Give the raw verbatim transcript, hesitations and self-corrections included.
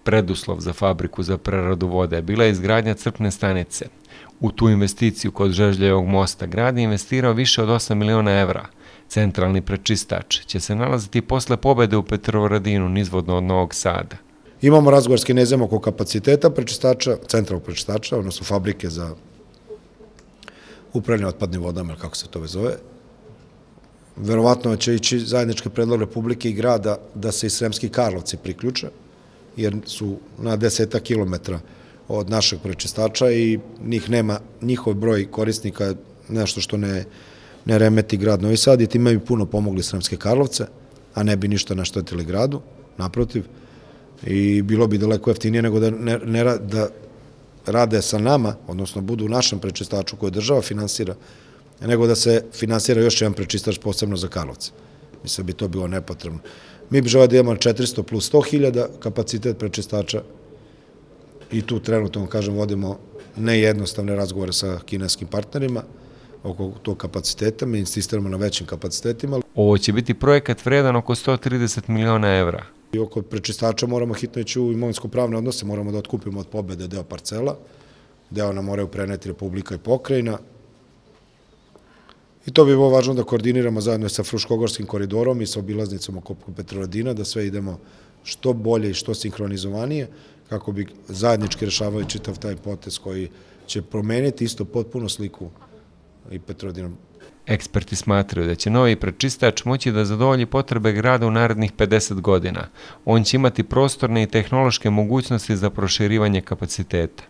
Preduslov za fabriku za preradu vode bila je izgradnja crpne stanice. U tu investiciju kod Žežljevog mosta grad je investirao više od osam miliona evra. Centralni prečistač će se nalaziti posle pobede u Petrovaradinu nizvodno od Novog Sada. Imamo razgovor s Kinezima oko kapaciteta prečistača, centralnog prečistača, odnosno fabrike za upravljanje otpadnim vodama, kako se to zove. Verovatno će ići zajednički predlog Republike i grada da se i Sremski Karlovci priključe, jer su na desetak kilometra od našeg prečistača i njih nema, njihov broj korisnika je nešto što ne, ne remeti grad Novi Sad i time bi puno pomogli Sremske Karlovce, a ne bi ništa naštetili gradu, naprotiv. I bilo bi daleko jeftinije nego da, ne, ne, da rade sa nama, odnosno budu u našem prečistaču koje država finansira, nego da se finansira još jedan prečistač posebno za Karlovce. Mislim bi to bilo nepotrebno. Mi bi želeli da imamo četiristo plus sto hiljada kapacitet prečistača i tu trenutno, kažem, vodimo nejednostavne razgovore sa kineskim partnerima oko tog kapaciteta. Mi insistiramo na većim kapacitetima. Ovo će biti projekat vredan oko sto trideset miliona evra. I oko prečistača moramo hitno ići u imovinsko-pravne odnose, moramo da otkupimo od pobede deo parcela, deo nam moraju preneti Republika i pokrajina. I to bi bilo važno da koordiniramo zajedno sa Fruškogorskim koridorom i sa obilaznicom oko Petrovaradina, da sve idemo što bolje i što sinhronizovanije, kako bi zajednički rešavali čitav taj potez koji će promeniti isto potpuno sliku i Petrovaradina. Eksperti smatraju da će novi prečistač moći da zadovolji potrebe grada u narednih pedeset godina. On će imati prostorne i tehnološke mogućnosti za proširivanje kapaciteta.